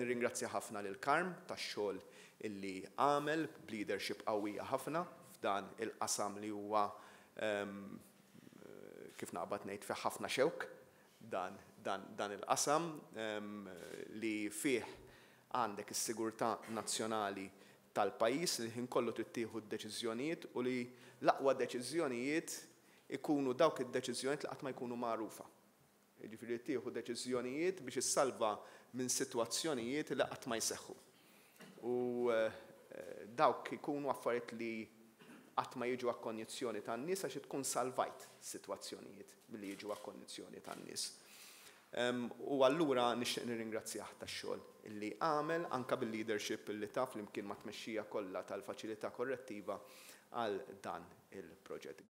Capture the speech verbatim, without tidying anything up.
Nirringrazzja ħafna lil Karm tax-xogħol illi għamel b'leadership qawwija ħafna f'dan il-qasam li huwa, kif naqbad ngħid, fih ħafna xewk dan, dan, dan il-qasam li fih għandek is-sigurtà nazzjonali tal-pajjiż li ħin kollu trid tieħu d-deċiżjonijiet u li l-aqwa deċiżjonijiet ikunu dawk id-deċiżjonijiet li qatt ma jkunu magħrufa. Jiġifieri tieħu deċiżjonijiet biex issalva minn sitwazzjonijiet li qatt ma jseħħu. U dawk ikunu affarijiet li qatt ma jiġu għall-konjizzjoni tan-nies għax tkun salvajt sitwazzjonijiet milli jiġu għall-konjizzjoni tan-nies. U allura nixtieq nirringrazzjah tax-xogħol illi għamel anka bil-leadership illi ta flimkien ma' tmexxija kollha tal-faċilità korrettiva għal dan il-proġett.